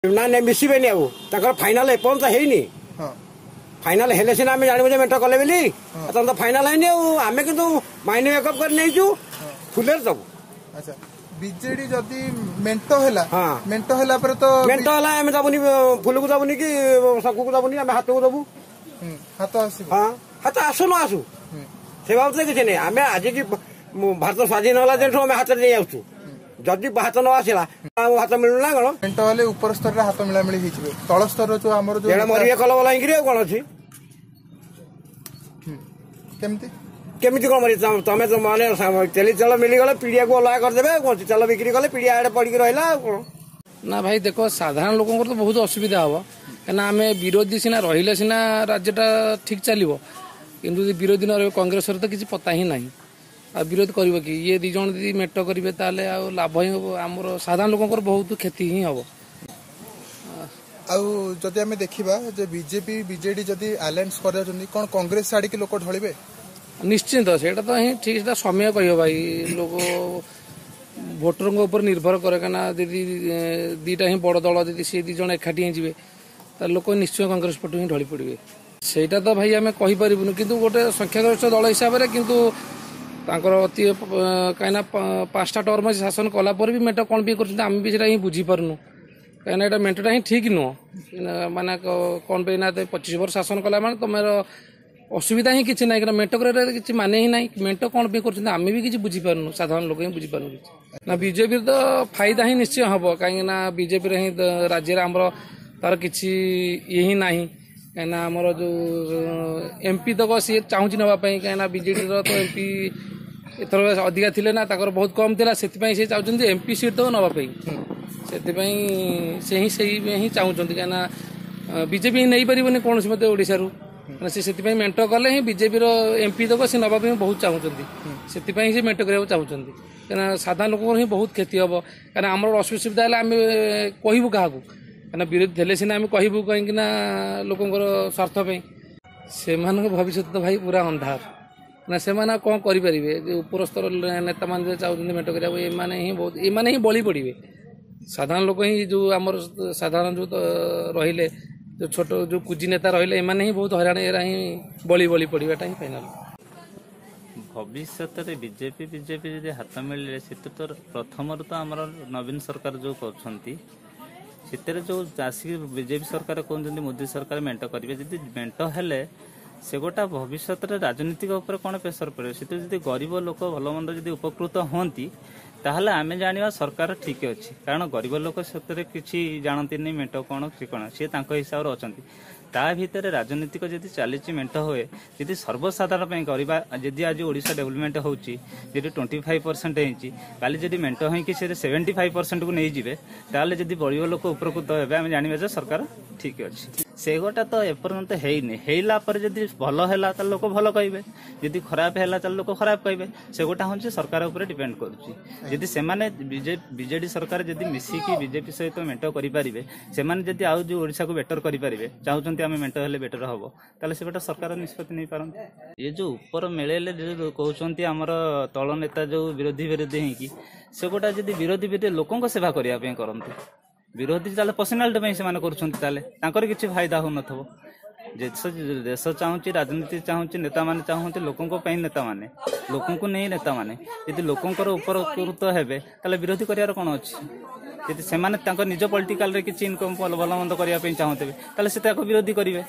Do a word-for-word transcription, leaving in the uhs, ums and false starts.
ନା ନାଇଁ, ମିଶିବେନି। ଆଉ ତାଙ୍କର ଫାଇନାଲ ଏପର୍ଯ୍ୟନ୍ତ ହେଇନି। ଫାଇନାଲ ହେଲେ ସିନା ଆମେ ଜାଣିବୁ ଯେ ମେଣ୍ଟ କଲେ ବୋଲି। ତାଙ୍କର ତ ଫାଇନାଲ ହେଇନି। ଆଉ ଆମେ କିନ୍ତୁ ମାଇଣ୍ଡ ମେକଅପ୍ କରି ନେଇଛୁ, ଫୁଲରେ ଦବୁ। ଆଚ୍ଛା, ବିଜେଡି ଯଦି ମେଣ୍ଟ ହେଲା, ମେଣ୍ଟ ହେଲା ପରେ ତ ମେଣ୍ଟ ହେଲା, ଆମେ ଦବୁନି, ଫୁଲକୁ ଦବୁନି କି ଶଙ୍କୁକୁ ଦବୁନି, ଆମେ ହାତକୁ ଦବୁ। ହାତ ଆସିବ? ହଁ, ହାତ ଆସୁ ନ ଆସୁ ସେ ବାବଦରେ କିଛି ନାହିଁ। ଆମେ ଆଜିକି ଭାରତ ସ୍ୱାଧୀନ ହେଲା ଦିନଠୁ ଆମେ ହାତରେ ନେଇ ଆସୁଛୁ। ଯଦି ହାତ ନ ଆସିଲା, ଆଉ ହାତ ମିଳୁନା କଣ? ମେଣ୍ଟ ହେଲେ ଉପର ସ୍ତରରେ ହାତ ମିଳାମିଳି ହେଇଯିବେ, ତଳ ସ୍ତରର ଯୋଉ ଆମର ଯୋଉ ମରିବେ କଲ ବଲା ହେଇକିରି। ଆଉ କଣ ଅଛି? କେମିତି କେମିତି କଣ ମରିବେ? ତମେ ତ ମାନେ ତେଲି ତେଲ ମିଳିଗଲେ ପିଡ଼ିଆକୁ ଅଲଗା କରିଦେବେ। ଆଉ କଣ, ତେଲ ବିକ୍ରି କଲେ ପିଡ଼ିଆ ଆଡେ ପଡିକି ରହିଲା, ଆଉ କଣ? ନା ଭାଇ, ଦେଖ, ସାଧାରଣ ଲୋକଙ୍କର ତ ବହୁତ ଅସୁବିଧା ହବ, କାହିଁକିନା ଆମେ ବିରୋଧୀ ସିନା ରହିଲେ ସିନା ରାଜ୍ୟଟା ଠିକ ଚାଲିବ। କିନ୍ତୁ ଯଦି ବିରୋଧୀ ନ ରହିବେ, କଂଗ୍ରେସର ତ କିଛି ପତା ହିଁ ନାହିଁ, ଆଉ ବିରୋଧ କରିବ କି ଇଏ? ଦି ଜଣ ଯଦି ମେଣ୍ଟ କରିବେ ତାହେଲେ ଆଉ ଲାଭ ହିଁ ହବ ଆମର, ସାଧାରଣ ଲୋକଙ୍କର ବହୁତ କ୍ଷତି ହିଁ ହବ। ଆଉ ଯଦି ଆମେ ଦେଖିବା ଯେ ବିଜେପି ବିଜେଡି ଯଦି ଆଲାଏନ୍ସ କରିଯାଉଛନ୍ତି, କଣ କଂଗ୍ରେସ ଛାଡିକି ଲୋକ ଢଳିବେ? ନିଶ୍ଚିନ୍ତ, ସେଇଟା ତ ହିଁ ଠିକ, ସେଟା ସମୟ କହିବ ଭାଇ। ଲୋକ ଭୋଟରଙ୍କ ଉପରେ ନିର୍ଭର କରେ, କାହିଁକିନା ଯଦି ଦିଟା ହିଁ ବଡ଼ ଦଳ, ଯଦି ସେ ଦି ଜଣ ଏକାଠି ହେଇଯିବେ, ତାହେଲେ ଲୋକ ନିଶ୍ଚୟ କଂଗ୍ରେସ ପଟୁ ହିଁ ଢଳି ପଡ଼ିବେ। ସେଇଟା ତ ଭାଇ ଆମେ କହିପାରିବୁନୁ, କିନ୍ତୁ ଗୋଟେ ସଂଖ୍ୟାଗରିଷ୍ଠ ଦଳ ହିସାବରେ କିନ୍ତୁ ତାଙ୍କର ଅତି, କାହିଁକିନା ପାଞ୍ଚଟା ଟର୍ମ ଶାସନ କଲା ପରେ ବି ମେଣ୍ଟ କ'ଣ ପାଇଁ କରୁଛନ୍ତି, ଆମେ ବି ସେଇଟା ହିଁ ବୁଝିପାରୁନୁ। କାହିଁକିନା ଏଇଟା ମେଣ୍ଟଟା ହିଁ ଠିକ୍ ନୁହଁ। ମାନେ କ'ଣ ପାଇଁ ନା ପଚିଶ ବର୍ଷ ଶାସନ କଲା ମାନେ ତମର ଅସୁବିଧା ହିଁ କିଛି ନାହିଁ, କାରଣ ମେଣ୍ଟ କରିବାର କିଛି ମାନେ ହିଁ ନାହିଁ। ମେଣ୍ଟ କ'ଣ ପାଇଁ କରୁଛନ୍ତି ଆମେ ବି କିଛି ବୁଝିପାରୁନୁ, ସାଧାରଣ ଲୋକ ହିଁ ବୁଝିପାରୁନୁ କିଛି। ନା, ବିଜେପିର ତ ଫାଇଦା ହିଁ ନିଶ୍ଚୟ ହବ, କାହିଁକିନା ବିଜେପିରେ ହିଁ ରାଜ୍ୟରେ ଆମର ତାର କିଛି ଇଏ ହିଁ ନାହିଁ। କାହିଁକିନା ଆମର ଯୋଉ ଏମ୍ପି ତକ ସିଏ ଚାହୁଁଛି ନେବା ପାଇଁ, କାହିଁକିନା ବିଜେଡିର ତ ଏମ୍ପି ଏଥର ଅଧିକା ଥିଲେ ନା, ତାଙ୍କର ବହୁତ କମ୍ ଥିଲା। ସେଥିପାଇଁ ସେ ଚାହୁଁଛନ୍ତି ଏମ୍ପି ସିଟ୍ ତକ ନେବା ପାଇଁ। ସେଥିପାଇଁ ସେ ହିଁ ସେଇ ହିଁ ଚାହୁଁଛନ୍ତି, କାହିଁକିନା ବିଜେପି ହିଁ ନେଇପାରିବନି କୌଣସି ମତେ ଓଡ଼ିଶାରୁ। ମାନେ ସେ ସେଥିପାଇଁ ମେଣ୍ଟ କଲେ ହିଁ ବିଜେପିର ଏମ୍ପି ତକ ସେ ନେବା ପାଇଁ ବହୁତ ଚାହୁଁଛନ୍ତି। ସେଥିପାଇଁ ସେ ମେଣ୍ଟ କରିବାକୁ ଚାହୁଁଛନ୍ତି, କାହିଁକିନା ସାଧାରଣ ଲୋକଙ୍କର ହିଁ ବହୁତ କ୍ଷତି ହବ। କାହିଁକିନା ଆମର ଅସୁବିଧା ହେଲେ ଆମେ କହିବୁ କାହାକୁ? କାହିଁକିନା ବିରୋଧୀ ଥିଲେ ସିନା ଆମେ କହିବୁ, କାହିଁକିନା ଲୋକଙ୍କର ସ୍ୱାର୍ଥ ପାଇଁ। ସେମାନଙ୍କ ଭବିଷ୍ୟତ ତ ଭାଇ ପୁରା ଅନ୍ଧାର ନା, ସେମାନେ ଆଉ କ'ଣ କରିପାରିବେ? ଯେ ଉପର ସ୍ତର ନେତାମାନେ ଯେ ଚାହୁଁଛନ୍ତି ମେଣ୍ଟ କରିବାକୁ, ଏମାନେ ହିଁ ବହୁତ, ଏମାନେ ହିଁ ବଳି ପଡ଼ିବେ। ସାଧାରଣ ଲୋକ ହିଁ, ଯେଉଁ ଆମର ସାଧାରଣ ଯେଉଁ ରହିଲେ, ଯେଉଁ ଛୋଟ ଯେଉଁ କୁଜି ନେତା ରହିଲେ, ଏମାନେ ହିଁ ବହୁତ ହଇରାଣ, ଏରା ହିଁ ବଳି ବଳି ପଡ଼ିବାଟା ହିଁ ଫାଇନାଲ। ଭବିଷ୍ୟତରେ ବିଜେପି ବିଜେପି ଯଦି ହାତ ମିଳିଲେ, ସେଥିରେ ତ ପ୍ରଥମରୁ ତ ଆମର ନବୀନ ସରକାର ଯେଉଁ କରୁଛନ୍ତି, ସେଥିରେ ଯେଉଁ ଆସିକି ବିଜେପି ସରକାର କହୁଛନ୍ତି ମୋଦି ସରକାର ମେଣ୍ଟ କରିବେ, ଯଦି ମେଣ୍ଟ ହେଲେ ସେଗୋଟା ଭବିଷ୍ୟତରେ ରାଜନୀତିକ ଉପରେ କ'ଣ ପ୍ରେସର ପଡ଼ିବ? ସେଥିରେ ଯଦି ଗରିବ ଲୋକ ଭଲ ମନ୍ଦ ଯଦି ଉପକୃତ ହୁଅନ୍ତି, ତାହେଲେ ଆମେ ଜାଣିବା ସରକାର ଠିକ୍ ଅଛି। କାରଣ ଗରିବ ଲୋକ ସେଥିରେ କିଛି ଜାଣନ୍ତିନି, ମେଣ୍ଟ କ'ଣ ସେ କ'ଣ, ସିଏ ତାଙ୍କ ହିସାବରେ ଅଛନ୍ତି। ତା ଭିତରେ ରାଜନୀତିକ ଯଦି ଚାଲିଛି, ମେଣ୍ଟ ହୁଏ ଯଦି ସର୍ବସାଧାରଣ ପାଇଁ କରିବା, ଯଦି ଆଜି ଓଡ଼ିଶା ଡେଭଲପମେଣ୍ଟ ହେଉଛି, ଯଦି ଟ୍ୱେଣ୍ଟି ଫାଇଭ୍ ପରସେଣ୍ଟ ହେଇଛି, କାଲି ଯଦି ମେଣ୍ଟ ହେଇକି ସେ ସେଭେଣ୍ଟି ଫାଇଭ୍ ପରସେଣ୍ଟକୁ ନେଇଯିବେ, ତାହେଲେ ଯଦି ଗରିବ ଲୋକ ଉପକୃତ ହେବେ, ଆମେ ଜାଣିବା ଯେ ସରକାର ଠିକ୍ ଅଛି। ସେଗୋଟା ତ ଏପର୍ଯ୍ୟନ୍ତ ହେଇନି। ହେଇଲା ପରେ ଯଦି ଭଲ ହେଲା ତାହେଲେ ଲୋକ ଭଲ କହିବେ, ଯଦି ଖରାପ ହେଲା ତାହେଲେ ଲୋକ ଖରାପ କହିବେ। ସେଗୋଟା ହେଉଛି ସରକାର ଉପରେ ଡିପେଣ୍ଡ କରୁଛି। ଯଦି ସେମାନେ ବିଜେଡି ସରକାର ଯଦି ମିଶିକି ବିଜେପି ସହିତ ମେଣ୍ଟ କରିପାରିବେ, ସେମାନେ ଯଦି ଆଉ ଯୋଉ ଓଡ଼ିଶାକୁ ବେଟର କରିପାରିବେ ଚାହୁଁଛନ୍ତି, ଆମେ ମେଣ୍ଟ ହେଲେ ବେଟର ହବ, ତାହେଲେ ସେପଟେ ସରକାର ନିଷ୍ପତ୍ତି ନେଇପାରନ୍ତି। ଏ ଯୋଉ ଉପର ମିଳେଇଲେ ଯୋଉ କହୁଛନ୍ତି ଆମର ତଳ ନେତା ଯୋଉ ବିରୋଧୀ ବିରୋଧୀ ହେଇକି, ସେଗୋଟା ଯଦି ବିରୋଧୀ ବିରୋଧୀ ଲୋକଙ୍କ ସେବା କରିବା ପାଇଁ କରନ୍ତି, ବିରୋଧୀ ତାହେଲେ ପର୍ସନାଲିଟି ପାଇଁ ସେମାନେ କରୁଛନ୍ତି, ତାହେଲେ ତାଙ୍କର କିଛି ଫାଇଦା ହଉନଥିବ। ଦେଶ ଦେଶ ଚାହୁଁଛି, ରାଜନୀତି ଚାହୁଁଛି, ନେତାମାନେ ଚାହୁଁଛନ୍ତି ଲୋକଙ୍କ ପାଇଁ, ନେତାମାନେ ଲୋକଙ୍କୁ ନେଇ ନେତାମାନେ ଯଦି ଲୋକଙ୍କର ଉପକୃତ ହେବେ, ତାହେଲେ ବିରୋଧୀ କରିବାର କ'ଣ ଅଛି? ଯଦି ସେମାନେ ତାଙ୍କ ନିଜ ପଲିଟିକାଲରେ କିଛି ଇନକମ୍ ଭଲ ମନ୍ଦ କରିବା ପାଇଁ ଚାହୁଁଥିବେ, ତାହେଲେ ସେ ତାକୁ ବିରୋଧୀ କରିବେ।